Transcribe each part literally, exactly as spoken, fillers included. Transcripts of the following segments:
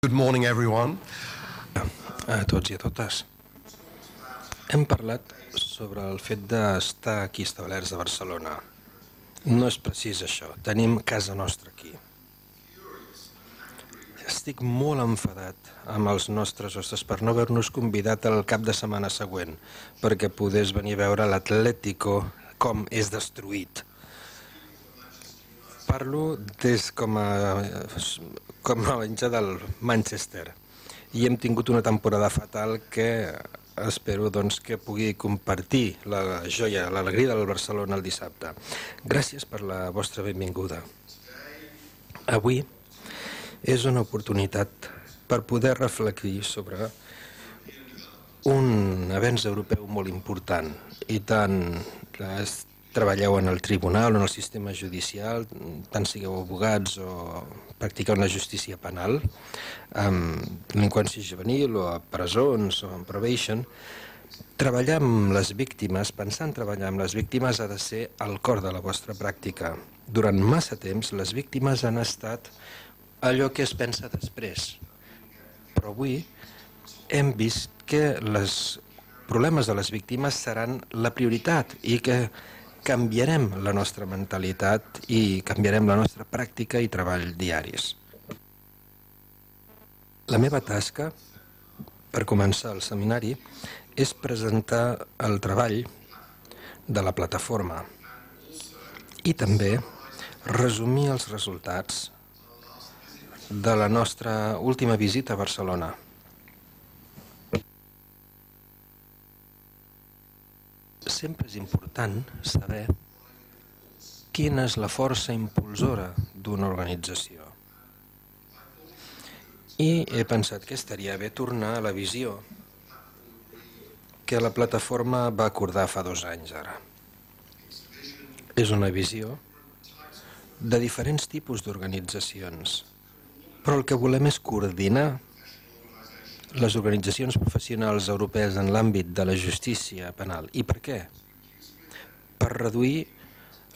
Good morning, everyone. A tots i a totes. Hem parlat sobre el fet d'estar aquí establerts a Barcelona. No és precís això, tenim casa nostra aquí. Estic molt enfadat amb els nostres hostes per no haver-nos convidat el cap de setmana següent perquè podés venir a veure l'Atlético com és destruït. Parlo des com a, com a hincha del Manchester i hem tingut una temporada fatal que espero doncs, que pugui compartir la joia, l'alegria del Barcelona el dissabte. Gràcies per la vostra benvinguda. Avui és una oportunitat per poder reflectir sobre un avenç europeu molt important i tant treballeu en el tribunal o en el sistema judicial, tant sigueu abogats o practiqueu la justícia penal, amb delinqüència juvenil o a presons o en probation, treballar amb les víctimes, pensar en treballar amb les víctimes ha de ser el cor de la vostra pràctica. Durant massa temps les víctimes han estat allò que es pensa després, però avui hem vist que els problemes de les víctimes seran la prioritat i que canviarem la nostra mentalitat i canviarem la nostra pràctica i treball diaris. La meva tasca, per començar el seminari, és presentar el treball de la plataforma i també resumir els resultats de la nostra última visita a Barcelona. Sempre és important saber quina és la força impulsora d'una organització. I he pensat que estaria bé tornar a la visió que la plataforma va acordar fa dos anys ara. És una visió de diferents tipus d'organitzacions, però el que volem és coordinar les organitzacions professionals europees en l'àmbit de la justícia penal. I per què? Per reduir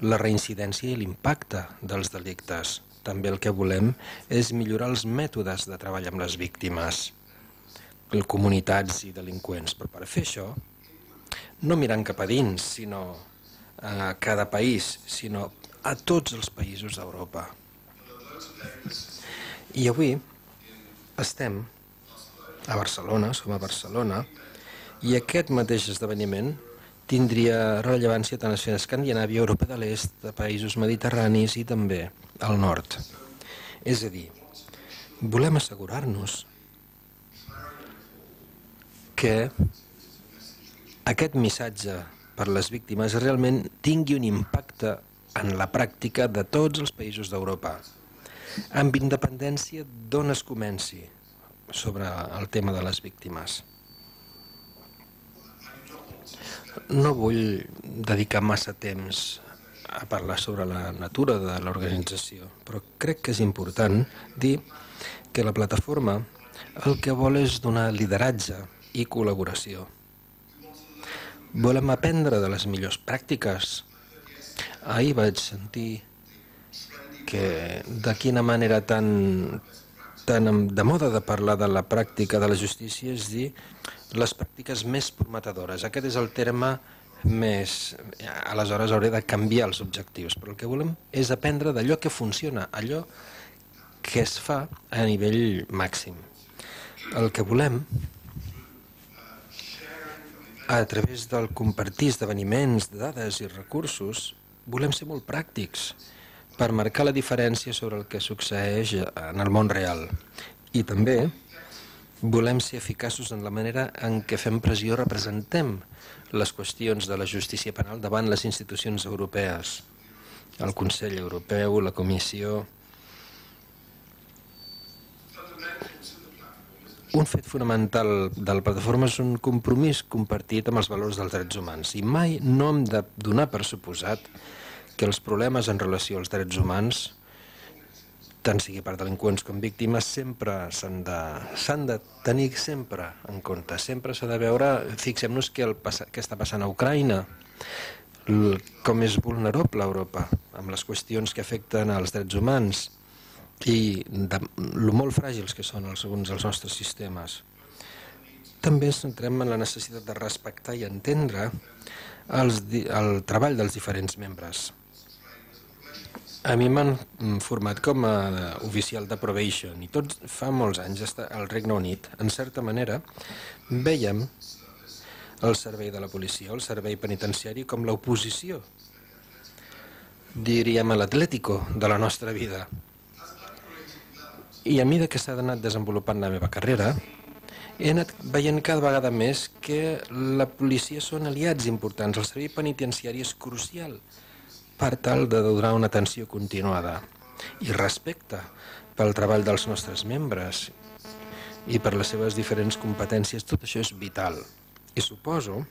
la reincidència i l'impacte dels delictes. També el que volem és millorar els mètodes de treball amb les víctimes, comunitats i delinqüents. Però per fer això, no mirant cap a dins, sinó a cada país, sinó a tots els països d'Europa. I avui estem a Barcelona, som a Barcelona, i aquest mateix esdeveniment tindria rellevància tant a Escandinàvia, Europa de l'Est, de països mediterranis i també al nord. És a dir, volem assegurar-nos que aquest missatge per les víctimes realment tingui un impacte en la pràctica de tots els països d'Europa, amb independència d'on es comenci sobre el tema de les víctimes. No vull dedicar massa temps a parlar sobre la natura de l'organització, però crec que és important dir que la plataforma el que vol és donar lideratge i col·laboració. Volem aprendre de les millors pràctiques. Ahir vaig sentir que de quina manera tan tan de moda de parlar de la pràctica de la justícia és dir les pràctiques més prometedores. Aquest és el terme més... Aleshores hauré de canviar els objectius, però el que volem és aprendre d'allò que funciona, allò que es fa a nivell màxim. El que volem, a través del compartir esdeveniments, dades i recursos, volem ser molt pràctics per marcar la diferència sobre el que succeeix en el món real. I també volem ser eficaços en la manera en què fem pressió i representem les qüestions de la justícia penal davant les institucions europees, el Consell Europeu, la Comissió. Un fet fonamental de la plataforma és un compromís compartit amb els valors dels drets humans i mai no hem de donar per suposat que els problemes en relació als drets humans, tant sigui per delinqüents com víctimes, sempre s'han de, s'han de tenir sempre en compte. Sempre s'ha de veure, fixem-nos què, el, què està passant a Ucraïna, com és vulnerable Europa, amb les qüestions que afecten als drets humans, i de lo molt fràgils que són alguns dels nostres sistemes. També ens centrem en la necessitat de respectar i entendre els, el treball dels diferents membres. A mi m'han format com a oficial de probation i tot fa molts anys al Regne Unit. En certa manera, vèiem el servei de la policia, el servei penitenciari, com l'oposició, diríem, a l'Atlético de la nostra vida. I a mesura que s'ha anat desenvolupant la meva carrera, he anat veient cada vegada més que la policia són aliats importants. El servei penitenciari és crucial per tal de donar una atenció continuada i respecte pel treball dels nostres membres i per les seves diferents competències. Tot això és vital. I suposo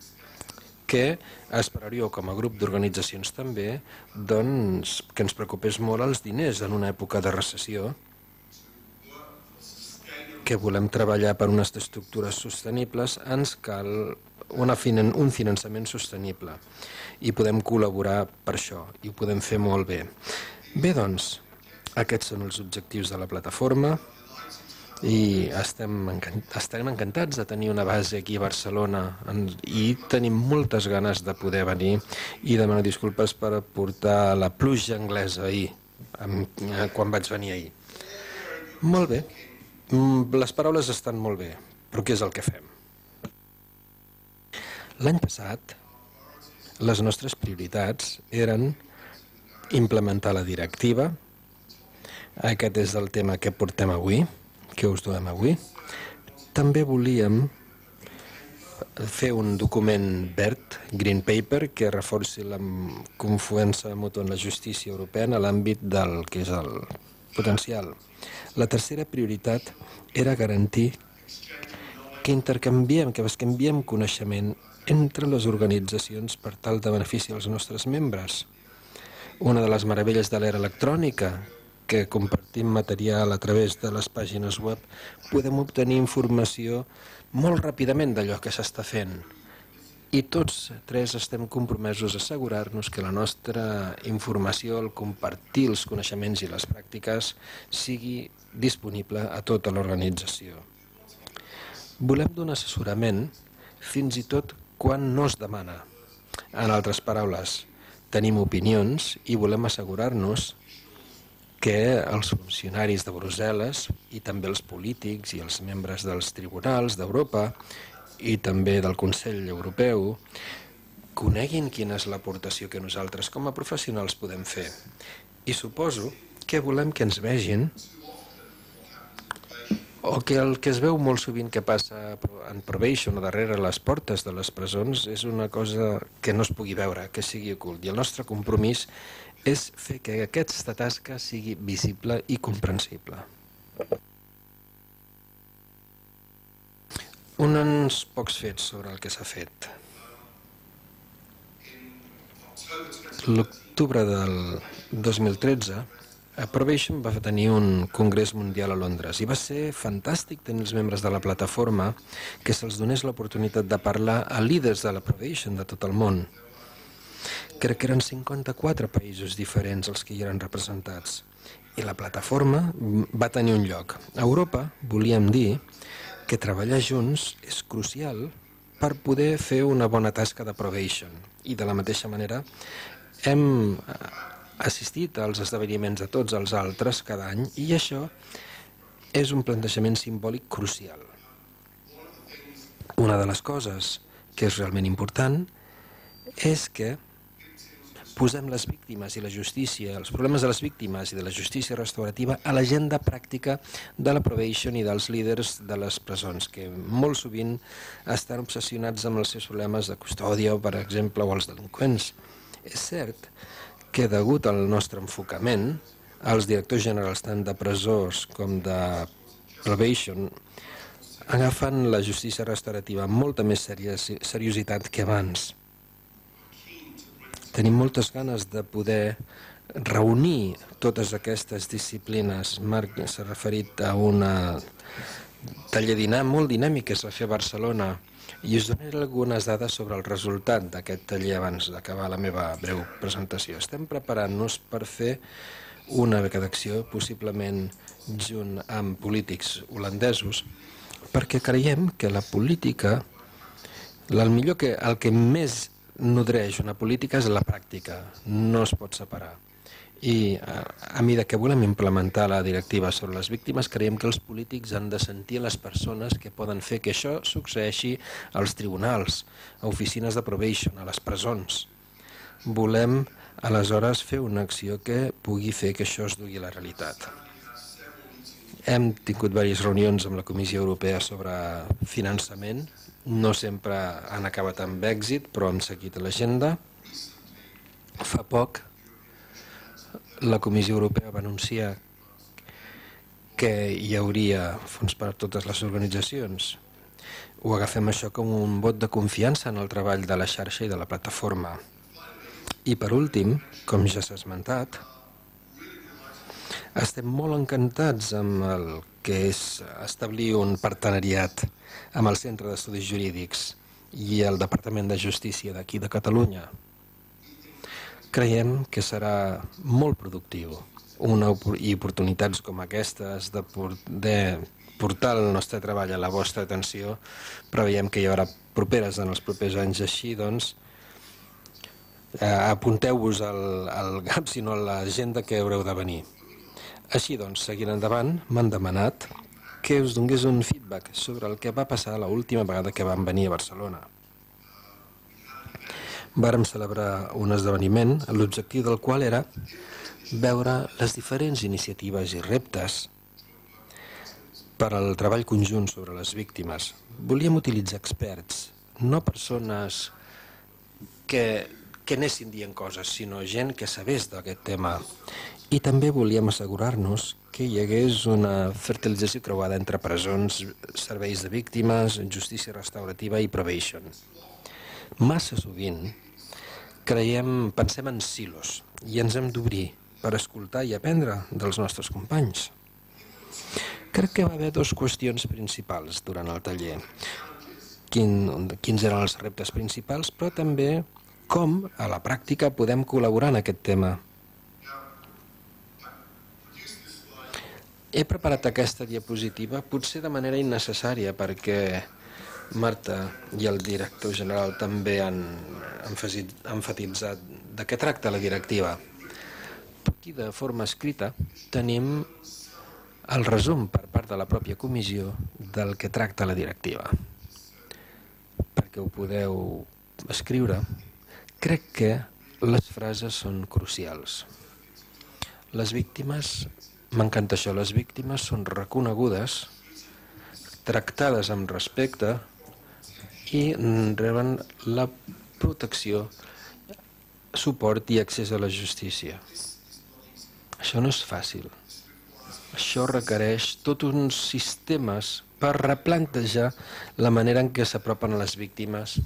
que esperaríeu com a grup d'organitzacions també doncs, que ens preocupés molt els diners en una època de recessió, que volem treballar per unes estructures sostenibles, ens cal una, un finançament sostenible i podem col·laborar per això i ho podem fer molt bé. Bé, doncs, aquests són els objectius de la plataforma i estem, encant estem encantats de tenir una base aquí a Barcelona i tenim moltes ganes de poder venir i demano disculpes per portar la pluja anglesa ahir, quan vaig venir ahir. Molt bé. Les paraules estan molt bé, però què és el que fem? L'any passat, les nostres prioritats eren implementar la directiva. Aquest és el tema que portem avui, que us donem avui. També volíem fer un document verd, Green Paper, que reforci la confiança mútua en la justícia europea en l'àmbit del que és el potencial. La tercera prioritat era garantir que intercanviem, que canviem coneixement entre les organitzacions per tal de beneficiar els nostres membres. Una de les meravelles de l'era electrònica, que compartim material a través de les pàgines web, podem obtenir informació molt ràpidament d'allò que s'està fent. I tots tres estem compromesos a assegurar-nos que la nostra informació, el compartir els coneixements i les pràctiques sigui disponible a tota l'organització. Volem donar assessorament fins i tot quan no es demana. En altres paraules, tenim opinions i volem assegurar-nos que els funcionaris de Brussel·les i també els polítics i els membres dels tribunals d'Europa i també del Consell Europeu coneguin quina és l'aportació que nosaltres com a professionals podem fer. I suposo que volem que ens vegin o que el que es veu molt sovint que passa en probation o darrere les portes de les presons és una cosa que no es pugui veure, que sigui ocult. I el nostre compromís és fer que aquesta tasca sigui visible i comprensible. Uns pocs fets sobre el que s'ha fet. L'octubre del dos mil tretze, Probation va tenir un congrés mundial a Londres i va ser fantàstic tenir els membres de la plataforma que se'ls donés l'oportunitat de parlar a líders de la Probation de tot el món. Crec que eren cinquanta-quatre països diferents els que hi eren representats i la plataforma va tenir un lloc. A Europa volíem dir que treballar junts és crucial per poder fer una bona tasca de probation. I de la mateixa manera hem assistit als esdeveniments de tots els altres cada any i això és un plantejament simbòlic crucial. Una de les coses que és realment important és que posem les víctimes i la justícia, els problemes de les víctimes i de la justícia restaurativa a l'agenda pràctica de la probation i dels líders de les presons, que molt sovint estan obsessionats amb els seus problemes de custòdia, per exemple, o els delinqüents. És cert que degut al nostre enfocament, els directors generals tant de presons com de probation agafen la justícia restaurativa amb molta més seriositat que abans. Tenim moltes ganes de poder reunir totes aquestes disciplines. Marc s'ha referit a una taller molt dinàmic que es va fer a Barcelona i us donaré algunes dades sobre el resultat d'aquest taller abans d'acabar la meva breu presentació. Estem preparant-nos per fer una beca d'acció, possiblement junt amb polítics holandesos, perquè creiem que la política, el millor que, el que més nodreix una política és la pràctica, no es pot separar. I a, a mesura que volem implementar la directiva sobre les víctimes, creiem que els polítics han de sentir les persones que poden fer que això succeeixi als tribunals, a oficines de probation, a les presons. Volem, aleshores, fer una acció que pugui fer que això es dugui a la realitat. Hem tingut diverses reunions amb la Comissió Europea sobre finançament. No sempre han acabat amb èxit, però hem seguit l'agenda. Fa poc, la Comissió Europea va anunciar que hi hauria fons per a totes les organitzacions. Ho agafem això com un vot de confiança en el treball de la xarxa i de la plataforma. I per últim, com ja s'ha esmentat, estem molt encantats amb el que és establir un partenariat amb el Centre d'Estudis Jurídics i el Departament de Justícia d'aquí de Catalunya. Creiem que serà molt productiu una, i oportunitats com aquestes de poder portar el nostre treball a la vostra atenció, preveiem que hi haurà properes en els propers anys. Així, doncs, eh, apunteu-vos al, al G A P, sinó a l'agenda que haureu de venir. Així, doncs, seguint endavant, m'han demanat que us donés un feedback sobre el que va passar l'última vegada que vam venir a Barcelona. Vàrem celebrar un esdeveniment, l'objectiu del qual era veure les diferents iniciatives i reptes per al treball conjunt sobre les víctimes. Volíem utilitzar experts, no persones que, que anessin dient coses, sinó gent que sabés d'aquest tema. I també volíem assegurar-nos que hi hagués una fertilització creuada entre presons, serveis de víctimes, justícia restaurativa i probation. Massa sovint creiem, pensem en silos i ens hem d'obrir per escoltar i aprendre dels nostres companys. Crec que va haver dues qüestions principals durant el taller. Quin, quins eren els reptes principals, però també com a la pràctica podem col·laborar en aquest tema. He preparat aquesta diapositiva potser de manera innecessària perquè Marta i el director general també han enfatitzat de què tracta la directiva. Aquí, de forma escrita, tenim el resum per part de la pròpia comissió del que tracta la directiva. Perquè ho podeu escriure, crec que les frases són crucials. Les víctimes, m'encanta això, les víctimes són reconegudes, tractades amb respecte i reben la protecció, suport i accés a la justícia. Això no és fàcil. Això requereix tots uns sistemes per replantejar la manera en què s'apropen a les víctimes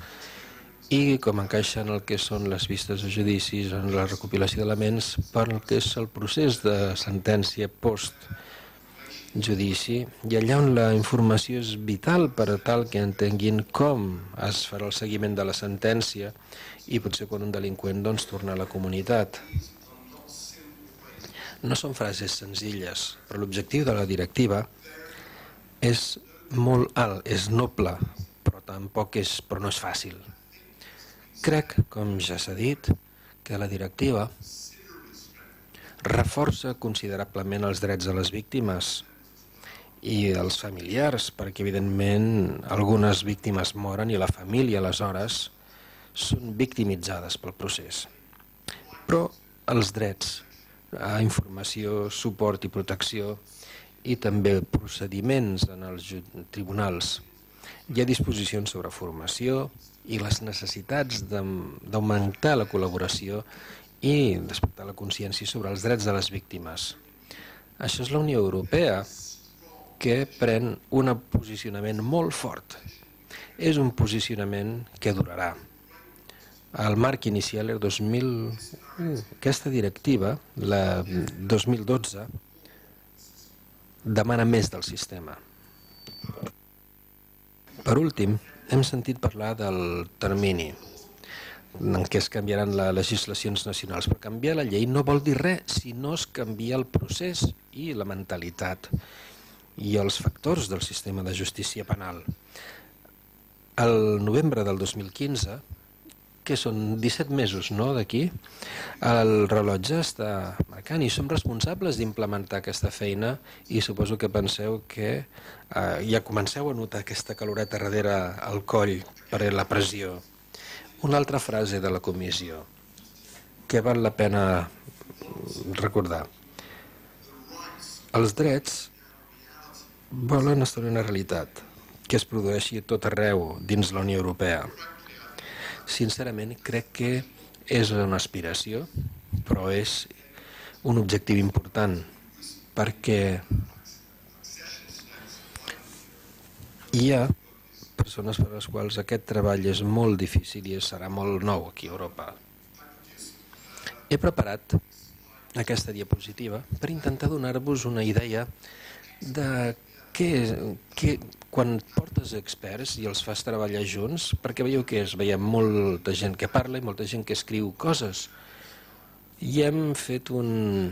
i com encaixen el que són les vistes de judicis, en la recopilació d'elements per el que és el procés de sentència post-judici, i allà on la informació és vital per a tal que entenguin com es farà el seguiment de la sentència i potser quan un delinqüent doncs torna a la comunitat. No són frases senzilles, però l'objectiu de la directiva és molt alt, és noble, però tampoc és, però no és fàcil. Crec, com ja s'ha dit, que la directiva reforça considerablement els drets de les víctimes i dels familiars, perquè evidentment algunes víctimes moren i la família aleshores són victimitzades pel procés. Però els drets a informació, suport i protecció i també procediments en els tribunals. Hi ha disposicions sobre formació i les necessitats d'augmentar la col·laboració i despertar la consciència sobre els drets de les víctimes. Això és la Unió Europea, que pren un posicionament molt fort. És un posicionament que durarà. El marc inicial era dos mil... Aquesta directiva, la dos mil dotze, demana més del sistema. Per últim, hem sentit parlar del termini. en què es canviaran les legislacions nacionals. Però canviar la llei no vol dir res si no es canvia el procés i la mentalitat i els factors del sistema de justícia penal. El novembre del dos mil quinze, que són disset mesos, no, d'aquí, el rellotge està marcant i som responsables d'implementar aquesta feina i suposo que penseu que eh, ja comenceu a notar aquesta caloreta darrere al coll per la pressió. Una altra frase de la comissió que val la pena recordar. Els drets volen establir una realitat que es produeixi a tot arreu dins la Unió Europea. Sincerament, crec que és una aspiració, però és un objectiu important, perquè hi ha persones per a les quals aquest treball és molt difícil i serà molt nou aquí a Europa. He preparat aquesta diapositiva per intentar donar-vos una idea de què, què, quan portes experts i els fas treballar junts, perquè veieu que és, veiem molta gent que parla i molta gent que escriu coses. I hem fet un,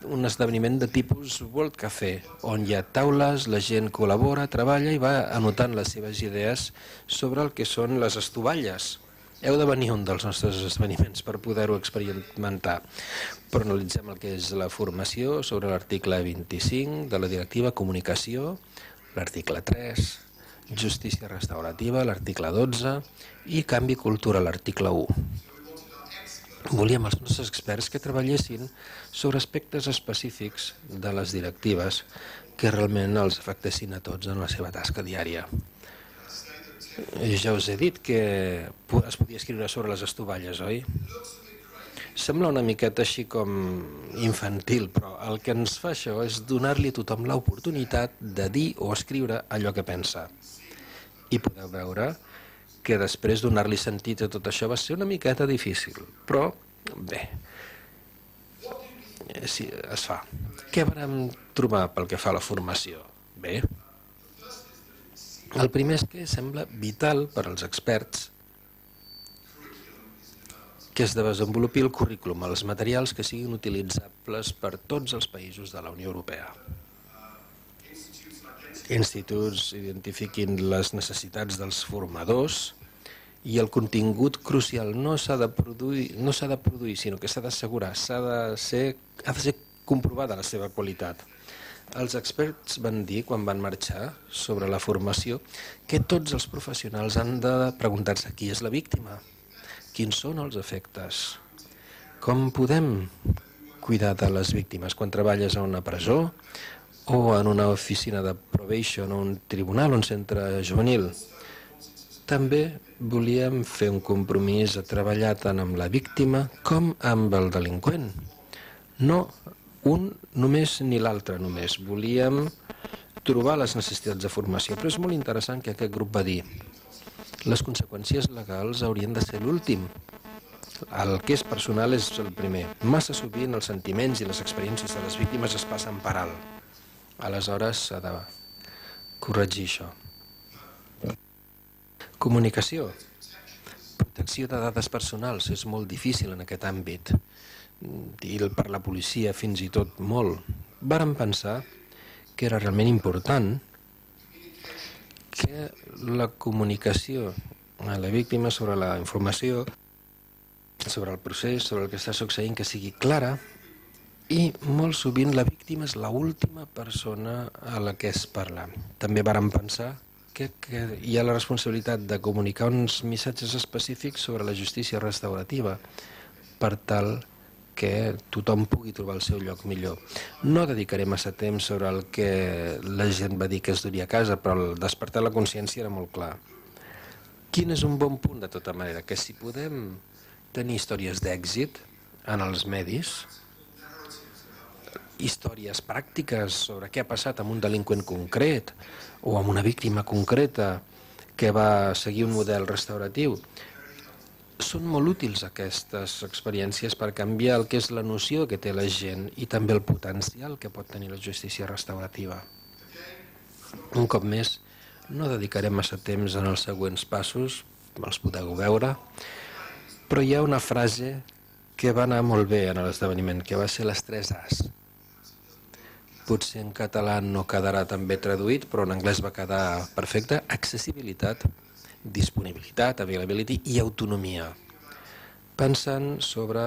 un esdeveniment de tipus World Café, on hi ha taules, la gent col·labora, treballa i va anotant les seves idees sobre el que són les estovalles. Heu de venir a un dels nostres esdeveniments per poder-ho experimentar. Però analitzem el que és la formació sobre l'article vint-i-cinc de la directiva comunicació, l'article tres, justícia restaurativa, l'article dotze i canvi cultura, l'article u. Volíem els nostres experts que treballessin sobre aspectes específics de les directives que realment els afectessin a tots en la seva tasca diària. Ja us he dit que es podia escriure sobre les estovalles, oi? Sembla una miqueta així com infantil, però el que ens fa això és donar-li a tothom l'oportunitat de dir o escriure allò que pensa. I podeu veure que després donar-li sentit a tot això va ser una miqueta difícil, però bé, sí, es fa. Què vam trobar pel que fa a la formació? Bé, el primer és que sembla vital per als experts que es desenvolupi el currículum, els materials que siguin utilitzables per tots els països de la Unió Europea. Instituts identifiquin les necessitats dels formadors i el contingut crucial no s'ha de produir, no s'ha de produir, sinó que s'ha d'assegurar, s'ha de ser, ha de ser comprovada la seva qualitat. Els experts van dir, quan van marxar sobre la formació, que tots els professionals han de preguntar-se qui és la víctima, quins són els efectes, com podem cuidar de les víctimes quan treballes a una presó o en una oficina de probation o un tribunal o un centre juvenil. També volíem fer un compromís a treballar tant amb la víctima com amb el delinqüent. No un només ni l'altre només. Volíem trobar les necessitats de formació, però és molt interessant que aquest grup va dir les conseqüències legals haurien de ser l'últim. El que és personal és el primer. Massa sovint els sentiments i les experiències de les víctimes es passen per alt. Aleshores s'ha de corregir això. Comunicació. Protecció de dades personals és molt difícil en aquest àmbit. I per la policia fins i tot molt. Vàrem pensar que era realment important que la comunicació a la víctima sobre la informació, sobre el procés, sobre el que està succeint, que sigui clara, i molt sovint la víctima és l'última persona a la que es parla. També vàrem pensar que, que hi ha la responsabilitat de comunicar uns missatges específics sobre la justícia restaurativa per tal que tothom pugui trobar el seu lloc millor. No dedicaré massa temps sobre el que la gent va dir que es duria a casa, però el despertar la consciència era molt clar. Quin és un bon punt, de tota manera? Que si podem tenir històries d'èxit en els medis, històries pràctiques sobre què ha passat amb un delinqüent concret o amb una víctima concreta que va seguir un model restauratiu, són molt útils aquestes experiències per canviar el que és la noció que té la gent i també el potencial que pot tenir la justícia restaurativa. Un cop més, no dedicarem massa temps en els següents passos, els podeu veure, Però hi ha una frase que va anar molt bé en l'esdeveniment, que va ser les tres As. Potser en català no quedarà tan bé traduït, però en anglès va quedar perfecte: accessibilitat, disponibilitat, availability i autonomia. Pensant sobre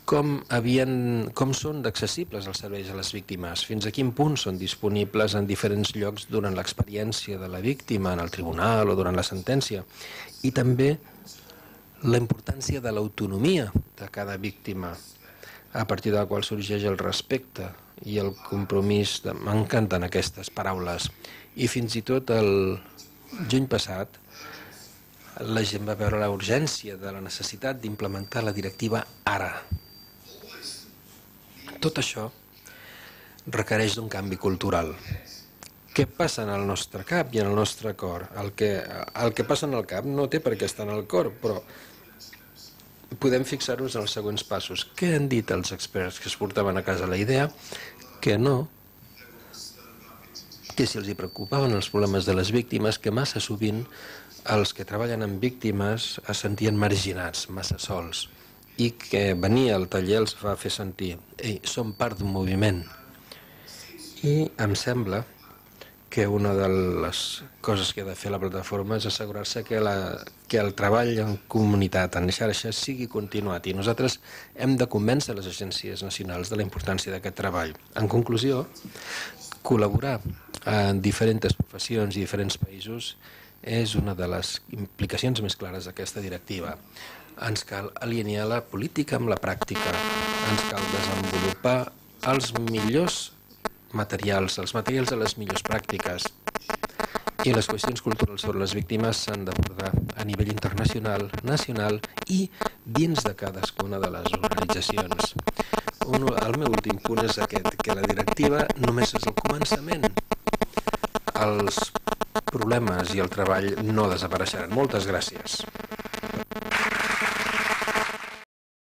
com, havien, com són d'accessibles els serveis a les víctimes, fins a quin punt són disponibles en diferents llocs durant l'experiència de la víctima, en el tribunal o durant la sentència, i també la importància de l'autonomia de cada víctima, a partir de la qual sorgeix el respecte i el compromís. De... M'encanten aquestes paraules. I fins i tot el juny passat la gent va veure la urgència de la necessitat d'implementar la directiva ara. Tot això requereix d'un canvi cultural. Què passa en el nostre cap i en el nostre cor? El que, el que passa en el cap no té per què estar en el cor, però podem fixar-nos en els següents passos. Què han dit els experts que es portaven a casa la idea? Que no, que si els hi preocupaven els problemes de les víctimes, que massa sovint els que treballen amb víctimes es sentien marginats, massa sols, i que venir al taller els va fer sentir: ei, som part d'un moviment. I em sembla que una de les coses que ha de fer la plataforma és assegurar-se que, la, que el treball en comunitat, en xarxa, sigui continuat, i nosaltres hem de convèncer les agències nacionals de la importància d'aquest treball. En conclusió, col·laborar en diferents professions i diferents països és una de les implicacions més clares d'aquesta directiva. Ens cal alinear la política amb la pràctica, ens cal desenvolupar els millors materials, els materials de les millors pràctiques, i les qüestions culturals sobre les víctimes s'han d'abordar a nivell internacional, nacional i dins de cadascuna de les organitzacions. Un, el meu últim punt és aquest, que la directiva només és el començament. Els problemes i el treball no desapareixeran. Moltes gràcies.